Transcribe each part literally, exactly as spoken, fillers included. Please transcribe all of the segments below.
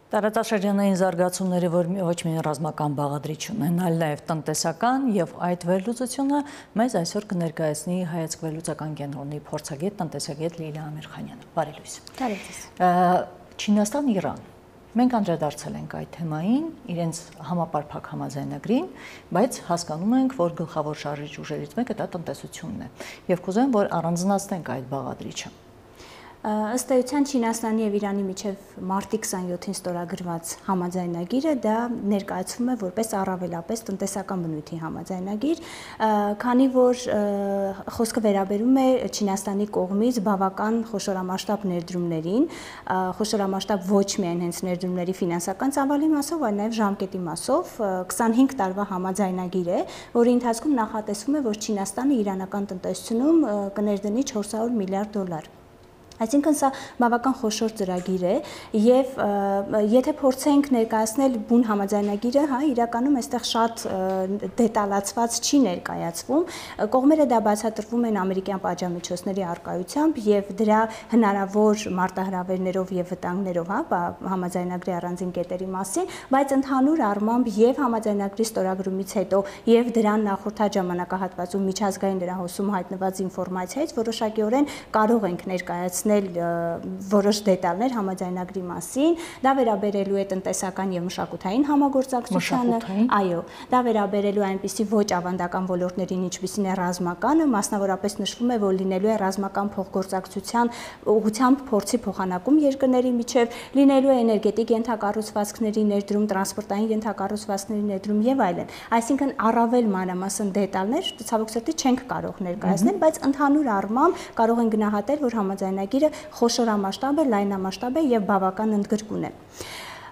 Տարածաշրջանային զարգացումները, որ ոչ միայն ռազմական բաղադրիչ ունեն, այլ նաև տնտեսական, եւ այդ վերլուծությունը մեզ այսօր կներկայացնի Հայացք վերլուծական կենտրոնի փորձագետ, տնտեսագետ Լիլիա Ամիրխանյանը։ Բարի լույս։ Բարի լույս։ Չինաստան, Իրան։ Մենք անդրադարձել ենք այդ թեմային, իրենց համապարփակ համաձայնագրին, բայց հասկանում ենք, որ գլխավոր շարժիչ ուժերից մեկը դա տնտեսությունն է։ Եվ կուզեմ, որ առանձնացնենք այդ բաղադրիչը։ Ըստ էության Չինաստանի եւ Իրանի միջև մարտի քսանյոթին ստորագրված համաձայնագիրը դա ներկայացվում է որպես առավելապես տնտեսական բնույթի համաձայնագիր, քանի որ խոսքը վերաբերում է Չինաստանի կողմից բավական խոշորամասշտաբ ներդրումներին, խոշորամասշտաբ ոչ միայն հենց ներդրումների ֆինանսական ծավալի մասով, այլ նաեւ ժամկետի մասով քսանհինգ տարվա համաձայնագիր է, որի ընթացքում նախատեսվում է, որ Չինաստանը իրանական տնտեսությունում կներդնի չորս հարյուր միլիարդ դոլար։ Այսինքն սա բավական խոշոր ծրագիր է եւ եթե փորձենք ներկայացնել բուն համաձայնագիրը, հա, իրականում այստեղ շատ դետալացված չի ներկայացվում, կողմերը դա բացատրվում են ամերիկյան պատժամիջոցների առկայությամբ եւ դրա հնարավոր մարտահրավերներով եւ վտանգներով, հա, համաձայնագրի առանձին կետերի մասին, բայց ընդհանուր առմամբ եւ համաձայնագրի ստորագրումից հետո եւ դրան նախորդած ժամանակահատվածում միջազգային լրահոսում հայտնված ինֆորմացիայից որոշակիորեն կարող ենք ներկայացնել որոշ դետալներ համաձայնագրի մասին, դա վերաբերելու է տնտեսական եւ մշակութային համագործակցությանը, այո, դա վերաբերելու է այնպիսի ոչ ավանդական ոլորտներին, ինչպիսին է ռազմականը, մասնավորապես նշվում է, որ լինելու է ռազմական փոխգործակցության ուղղությամբ փորձի փոխանակում երկրների միջև, լինելու է էներգետիկ ենթակառուցվածքների ներդրում, տրանսպորտային ենթակառուցվածքների ներդրում եւ այլն։ Այսինքն առավել մանրամասն դետալներ ցավոք սրտի չենք կարող ներկայացնել, բայց ընդհանուր առմամբ կարող են գնահատել, որ համաձայնագիրը խոշորամասշտաբ է, լայնամասշտաբ է եւ բավական ընդգրկուն է։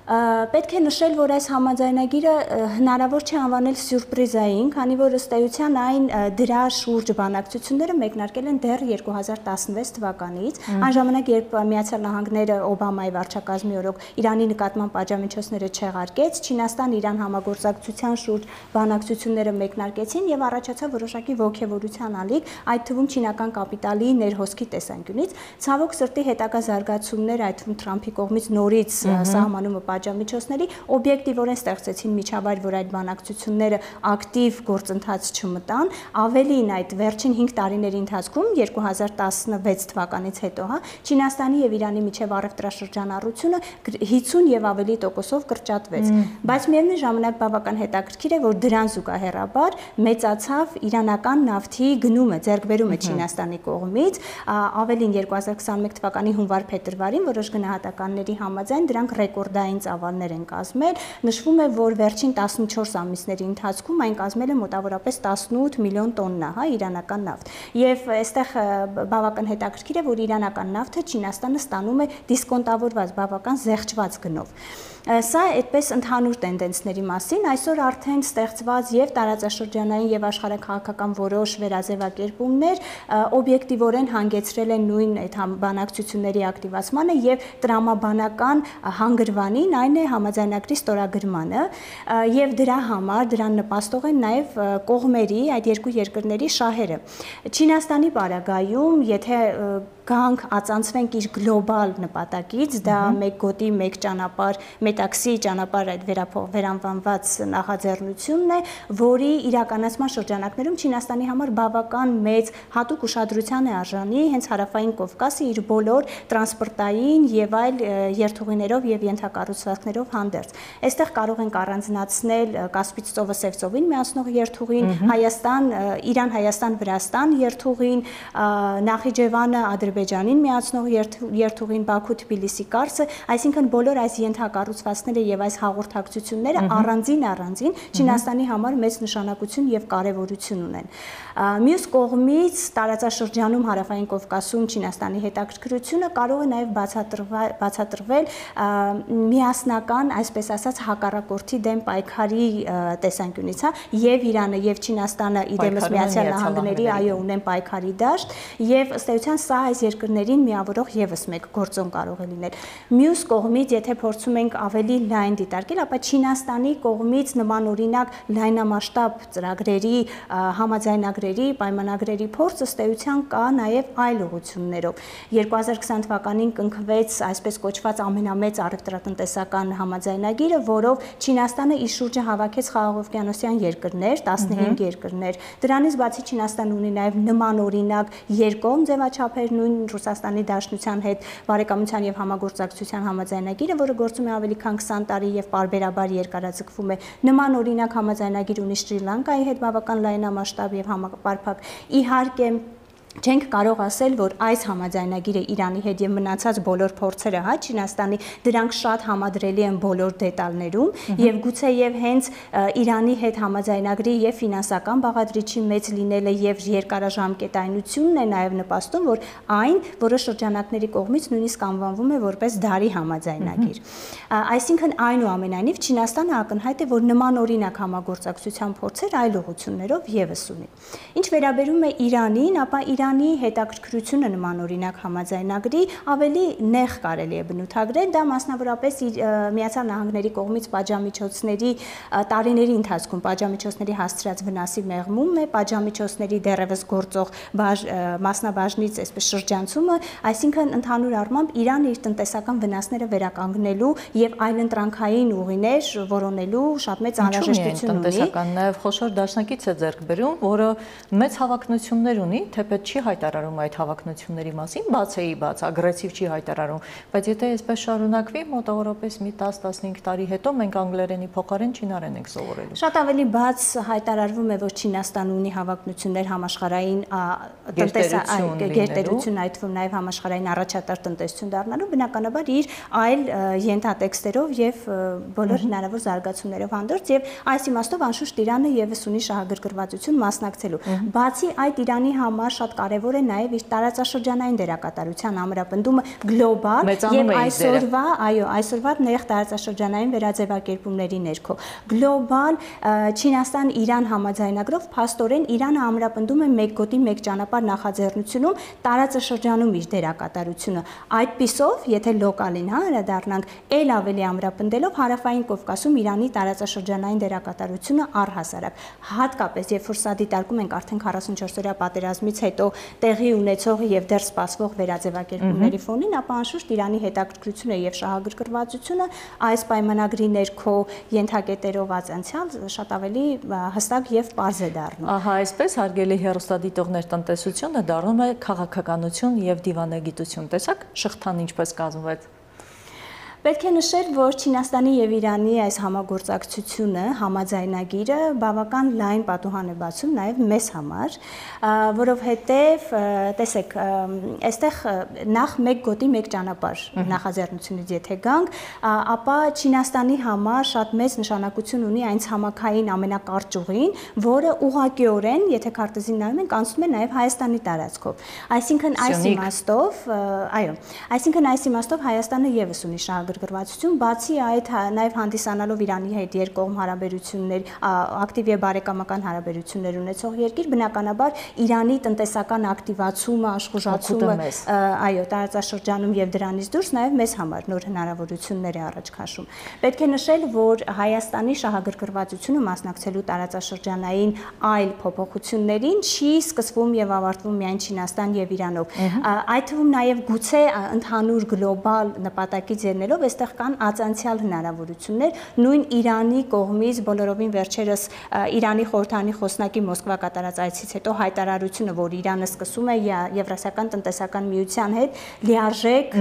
Պետք է նշել, որ այս համաձայնագիրը հնարավոր չէ անվանել սյուրպրիզային, քանի որ ըստ էության այն դրա շուրջ բանակցությունները մեկնարկել են դեռ երկու հազար տասնվեց թվականից, այն ժամանակ, երբ Միացյալ Նահանգները Օբամայի վարչակազմի օրոք Իրանի նկատմամբ պատժամիջոցները չեղարկեց, Չինաստան-Իրան համագործակցության շուրջ բանակցությունները մեկնարկեցին եւ առաջացավ որոշակի ոգևորության ալիք, այդ թվում չինական կապիտալի ներհոսքի տեսանկյունից։ Ցավոք սրտի հետագա զարգացումներ, այդ թվում Թրամփի կողմից նորից սահմանումը պատժամիջոցների օբյեկտիվորեն ստեղծեցին միջավայր, որ այդ բանակցությունները ակտիվ գործընթաց չմտան, ավելին այդ վերջին հինգ տարիների ընթացքում երկու հազար տասնվեց թվականից հետո, հա, Չինաստանի եւ Իրանի միջև առևտրաշրջանառությունը հիսուն եւ ավելի տոկոսով կրճատվեց, բայց միևնույն ժամանակ բավական հետաքրքիր է, որ դրան զուգահեռաբար մեծացավ իրանական նավթի գնումը, ձեռքբերումը Չինաստանի կողմից, ավելին երկու հազար քսանմեկ թվականի հունվար-փետրվարին որոշ գնահատականների համաձայն դրանք ռեկորդային ծավալներ են կազմել, նշվում է, որ վերջին տասնչորս ամիսների ընթացքում այն կազմել է մոտավորապես տասնութ միլիոն տոննա, հա, իրանական նավթ։ Եվ այստեղ բավական հետաքրքիր է, որ իրանական նավթը Չինաստանը ստանում է դիսկոնտավորված, բավական զեղչված գնով։ Սա այդպես ընդհանուր տենդենսների մասին, այսօր արդեն ստեղծված եւ տարածաշրջանային եւ աշխարհաքաղաքական որոշ վերաձևակերպումներ օբյեկտիվորեն հանգեցրել են նույն այդ բանակցությունների ակտիվացմանը եւ տրամաբանական հանգրվանին, այն է համաձայնագրի ստորագրմանը եւ դրա համար դրան նպաստող են նաեւ կողմերի, այդ երկու երկրների շահերը։ Չինաստանի պարագայում, եթե գանք ածանցվենք իր գլոբալ նպատակից, դա մեկ գոտի, մեկ ճանապարհ, մետաքսի ճանապարհ այդ վերանվանված նախաձեռնությունն է, որի իրականացման շրջանակներում Չինաստանի համար բավական մեծ հատուկ ուշադրության է արժանի հենց հարավային Կովկասը իր բոլոր տրանսպորտային եւ այլ երթուղիներով եւ ենթակառուցվածքներով հանդերձ։ Այստեղ կարող ենք առանձնացնել Կասպից ծովը Սև ծովին միացնող երթուղին, Հայաստան, Իրան-Հայաստան-Վրաստան երթուղին, Նախիջևանը Ադրբեջանին միացնող երթուղին, Բաքու-Թբիլիսի կարծը, այսինքն բոլոր այս ենթակառուցվածքները եւ այս հաղորդակցությունները առանձին-առանձին Չինաստանի համար մեծ նշանակություն եւ կարեւորություն ունեն։ Մյուս կողմից տարածաշրջանում հարավային Կովկասում Չինաստանի հետաքրքրությունը կարող է նաեւ բացատրվել միասնական, այսպես ասած, հակառակորդի դեմ պայքարի տեսանկյունից, հա, եւ Իրանը եւ Չինաստանը իդեմս Միացյալ Նահանգների այո ունեն պայքարի դաշտ եւ ըստ էության սա այս երկրներին միավորող եւս մեկ գործոն կարող է լինել։ Մյուս կողմից, եթե փորձում ենք ավելի լայն դիտարկել, ապա Չինաստանի կողմից նմանօրինակ լայնամասշտաբ ծրագրերի, համաձայնագրերի, պայմանագրերի փորձ ըստ էության կա նաեւ այլ ուղղություններով։ երկու հազար քսան թվականին կնքվեց այսպես կոչված ամենամեծ առևտրատնտեսական համաձայնագիրը, որով Չինաստանը իր շուրջը հավաքեց խաղաղօվկիանոսյան երկրներ, տասնհինգ երկրներ։ Դրանից բացի Չինաստանը ունի նաեւ նմանօրինակ երկկողմ ձևաչափեր, նույն Ռուսաստանի Դաշնության հետ բարեկամության եւ համագործակցության համաձայնագիրը, որը գործում է ավելի քան քսան տարի եւ պարբերաբար երկարաձգվում է։ Նմանօրինակ համաձայնագիր ունի Շրի Լանկայի հետ բավական լայնամասշտաբ եւ համապարփակ։ Իհարկե Չենք կարող ասել, որ այս համաձայնագիրը Իրանի հետ եւ մնացած բոլոր փորձերը, հա, Չինաստանի դրանք շատ համադրելի են բոլոր դետալներում եւ գուցե եւ հենց Իրանի հետ համաձայնագրի եւ ֆինանսական բաղադրիչի մեծ լինելը եւ երկարաժամկետայնությունն է նաեւ նպաստում, որ այն որոշ շրջանակների կողմից նույնիսկ անվանվում է որպես դարի համաձայնագիր։ Այսինքն այնուամենայնիվ Չինաստանը ակնհայտ է, որ նմանօրինակ համագործակցության փորձեր այլ ուղղություններով եւս ունի։ Ինչ վերաբերում է Իրանին, ապա Իրանի հետաքրքրությունը նմանօրինակ համաձայնագրի ավելի նեղ կարելի է բնութագրել, դա մասնավորապես Միացյալ Նահանգների կողմից պատժամիջոցների տարիների ընթացքում պատժամիջոցների հասցրած վնասի մեղմում է, պատժամիջոցների դեռևս գործող մասնաբաժնից այսպես շրջանցումը, այսինքն ընդհանուր առմամբ Իրանը իր տնտեսական վնասները վերականգնելու եւ այլընտրանքային ուղիներ որոնելու շատ մեծ անհրաժեշտություն ունի։ Տնտեսական նաեւ խոշոր դաշնակից է ձեռք բերում, որը մեծ հավակնություններ ունի, թեպետ չի հայտարարում այդ հավակնությունների մասին, բաց էի բաց, ագրեսիվ չի հայտարարում, բայց եթե այսպես շարունակվի, մոտավորապես մի տաս-տասնհինգ տարի հետո մենք անգլերենի փոխարեն չինարեն ենք սովորելու։ Շատ ավելի բաց հայտարարվում է, որ Չինաստանը ունի հավակնություններ համաշխարհային գերտերություն, այդ թվում նաեւ համաշխարհային առաջատար տնտեսություն դառնալու, բնականաբար իր այլ ենթատեքստերով եւ բոլոր հնարավոր զարգացումներով հանդերձ եւ այս իմաստով անշուշտ Իրանը եւս ունի շահագրգռվածություն մասնակցելու։ Բացի այդ Իրանի համար շատ կարևոր է նաև իր տարածաշրջանային դերակատարության ամրապնդումը գլոբալ եւ այսօրվա, այո, այսօրվա նեղ տարածաշրջանային վերաձևակերպումների ներքո։ Գլոբալ Չինաստան-Իրան համաձայնագրով փաստորեն Իրանը ամրապնդում է մեկ գոտի մեկ ճանապարհ նախաձեռնությունում տարածաշրջանում իր դերակատարությունը։ Այդպիսով, եթե լոկալին հա հրադառնանք, ել ավելի ամրապնդելով Հարավային Կովկասում Իրանի տարածաշրջանային դերակատարությունը առհասարակ, հատկապես երբ որ սա դիտարկում ենք արդեն քառասունչորս-օրյա պատերազմից հետո տեղի ունեցող եւ դեռ սպասվող վերաձևակերպումների ֆոնին, ապա անշուշտ Իրանի հետաքրքրությունը եւ շահագրգռվածությունը այս պայմանագրի ներքո ենթակետերով անցյալ շատ ավելի հստակ եւ պարզ է դառնում։ Ահա այսպես հարգելի հեռուստադիտողներ, տնտեսությունը դառնում է քաղաքականություն եւ դիվանագիտություն։ Տեսակ շղթան ինչպես կազմվեց։ Պետք է նշել, որ Չինաստանի եւ Իրանի այս համագործակցությունը, համաձայնագիրը բավական լայն պատուհան է բացում նաեւ մեզ համար, որովհետեւ տեսեք, այստեղ նախ մեկ գոտի մեկ ճանապարհ նախաձեռնությունից եթե գանք, ապա Չինաստանի համար շատ մեծ նշանակություն ունի այն ցամաքային ամենակարճ ուղին, որը ուղղակիորեն, եթե քարտեզին նայում ենք, անցնում է նաեւ Հայաստանի տարածքով։ Այսինքն այս իմաստով, այո, այսինքն այս իմաստով Հայաստանը եւս ունի շահագրգռվածություն, բացի այդ նաև հանդիսանալով Իրանի հետ երկկողմ հարաբերություններ, ակտիվ եւ բարեկամական հարաբերություններ ունեցող երկիր, բնականաբար Իրանի տնտեսական ակտիվացումը, աշխուժացումը, այո, տարածաշրջանում եւ դրանից դուրս նաև մեզ համար նոր հնարավորություններ է առաջ քաշում։ Պետք է նշել, որ Հայաստանի շահագրգռվածությունը մասնակցելու տարածաշրջանային այլ փոփոխություններին չի սկսվում եւ ավարտվում միայն Չինաստան եւ Իրանով։ Այդ թվում նաև գուցե ընդհանուր գլոբալ նպատակից ելնելով այստեղ կան ածանցյալ հնարավորություններ, նույն Իրանի կողմից բոլորովին վերջերս Իրանի խորհրդանի խոսնակի Մոսկվա կատարած այցից հետո հայտարարությունը, որ Իրանը սկսում է Եվրասիական տնտեսական միության հետ լիարժեք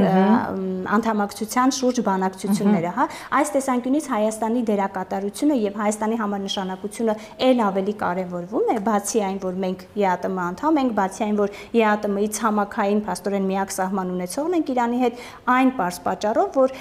անդամակցության շուրջ բանակցությունները, հա, այս տեսանկյունից Հայաստանի դերակատարությունը եւ Հայաստանի համար նշանակությունը ել ավելի կարեւորվում է, բացի այն, որ մենք ԵԱՏՄ անդամ ենք, բացի այն, որ ԵԱՏՄ-ի ցամաքային փաստորեն միակ սահման ունեցողն ենք Իրանի հետ, այն պարզ պատճառով, որ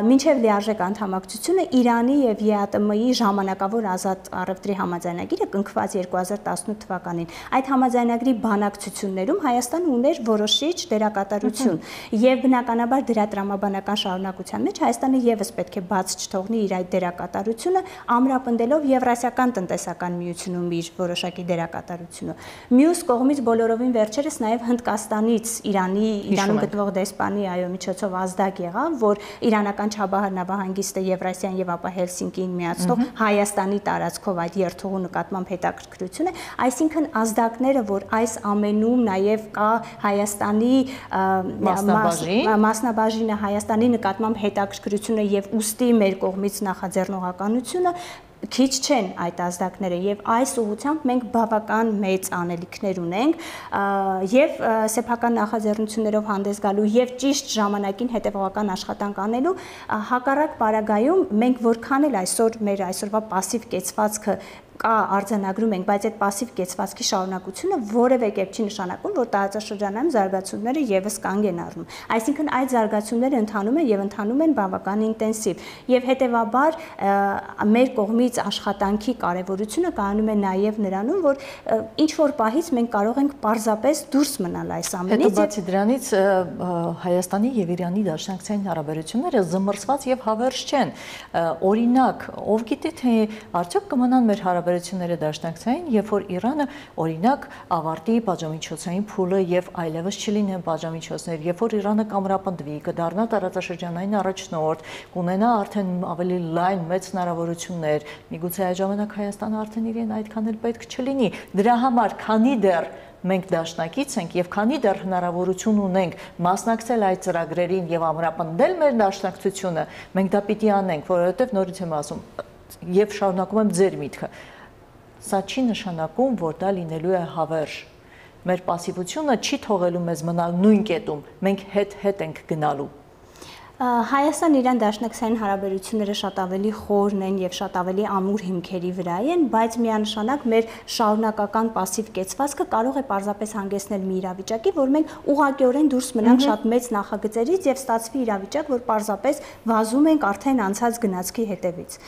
մինչև լիարժեք անդամակցությունը Իրանի եւ ԵԱՏՄ-ի ժամանակավոր ազատ առևտրի համաձայնագիրը կնքված երկու հազար տասնութ թվականին։ Այդ համաձայնագրի բանակցություններում Հայաստանը ուներ որոշիչ դերակատարություն եւ բնականաբար դրա տրամաբանական շարունակության մեջ Հայաստանը եւս պետք է բաց չթողնի իր այդ դերակատարությունը, ամրապնդելով Եվրասիական տնտեսական միությունում իր որոշակի դերակատարությունը։ Մյուս կողմից բոլորովին վերջերս նաեւ Հնդկաստանից Իրանի Իրանում գտնվող դեսպանի այո միջոցով ազդակ եղավ, որ իրանական Չաբահար նավահանգիստը Եվրասիան եւ ապա Հելսինկիին միացնող Հայաստանի տարածքով այդ երթուղու նկատմամբ հետաքրքրություն է, այսինքն ազդակները, որ այս ամենում նաեւ կա Հայաստանի մասնաբաժինը, Հայաստանի նկատմամբ հետաքրքրությունը եւ ուստի մեր կողմից նախաձեռնողականությունը քիչ չեն այդ ազդակները եւ այս ուղղությամբ մենք բավական մեծ անելիքներ ունենք եւ սեփական նախաձեռնություններով հանդես գալու եւ ճիշտ ժամանակին հետեւողական աշխատանք անելու հակառակ պարագայում մենք որքան էլ այսօր մեր այսօրվա пассив կեցվածքը կա արձանագրում ենք, բայց այդ пассив կեցվածքի շարունակությունը որևէ կերպ չի նշանակում, որ տարածաշրջանային զարգացումները եւս կանգ են առնում։ Այսինքն այդ զարգացումները ընթանում են եւ ընթանում են բավական ինտենսիվ եւ հետեւաբար մեր կողմից աշխատանքի կարեւորությունը կայանում է նաեւ նրանում, որ ինչ որ պահից մենք կարող ենք պարզապես դուրս մնալ այս ամենից։ Հետո բացի դրանից Հայաստանի եւ Իրանի դաշնակցային հարաբերությունները զմռսված եւ հավերժ չեն։ Օրինակ, ով գիտե թե արդյոք կմնան մեր հարաբերությունները դաշնակցային, երբ որ Իրանը օրինակ ավարտի բաժամիջոցային փուլը եւ այլևս չլինեն բաժամիջոցներ, երբ որ Իրանը կամրապնդվի, կդառնա տարածաշրջանային առաջնորդ, կունենա արդեն ավելի լայն մեծ հնարավորություններ, միգուցե այդ ժամանակ Հայաստանը արդեն իրեն այդքան էլ պետք չլինի։ Դրա համար քանի դեռ մենք դաշնակից ենք եւ քանի դեռ հնարավորություն ունենք մասնակցել այդ ծրագրերին եւ ամրապնդել մեր դաշնակցությունը, մենք դա պիտի անենք, որովհետեւ նորից եմ ասում եւ շարունակում եմ ձեր միտքը։ Սա չի նշանակում, որ դա լինելու է հավերժ։ Մեր пассивությունը չի թողելու մեզ մնալ նույն կետում, մենք հետ-հետ ենք գնալու։ Հայաստան-Իրան դաշնակցային հարաբերությունները շատ ավելի խորն են եւ շատ ավելի ամուր հիմքերի վրա են, բայց միանշանակ մեր շարունակական пассив կեցվածքը կարող է պարզապես հանգեցնել մի իրավիճակի, որ մենք ուղղակիորեն դուրս մնանք շատ մեծ նախագծերից եւ ստացվի իրավիճակ, որ պարզապես վազում ենք արդեն անցած գնացքի հետևից։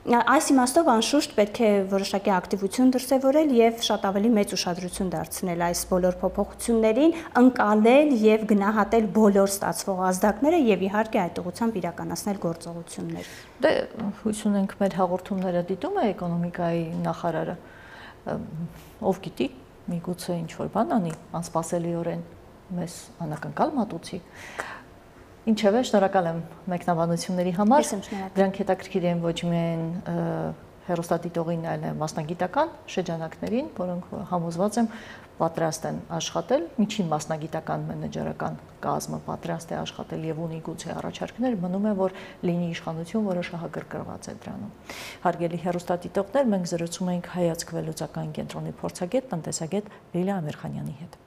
Այս իմաստով անշուշտ պետք է որոշակի ակտիվություն դրսևորել եւ շատ ավելի մեծ ուշադրություն դարձնել այս բոլոր փոփոխություններին, ընկալել եւ գնահատել բոլոր ստացվող ազդակները եւ իհարկե այդ ուղղությամբ իրականացնել գործողություններ։ Դե հույս ունենք մեր հաղորդումները դիտում է էկոնոմիկայի նախարարը, ով գիտի, միգուցե ինչ որ բան անի, անսպասելիորեն մեզ անակնկալ մատուցի։ Ինչևէ, շնորհակալ եմ մեկնաբանությունների համար։ Դրանք հետաքրքիր են ոչ միայն հեռուստադիտողին, այլ մասնագիտական շրջանակներին, որոնք համոզված եմ պատրաստ են աշխատել, միջին մասնագիտական մենեջերական կազմը պատրաստ է աշխատել եւ ունի գուցե առաջարկներ, մնում է որ լինի իշխանություն, որը շահագրգռված է դրանում։ Հարգելի հեռուստադիտողներ, մենք զրուցում ենք Հայացք վերլուծական կենտրոնի փորձագետ, տնտեսագետ Լիլիա Ամիրխանյանի հետ։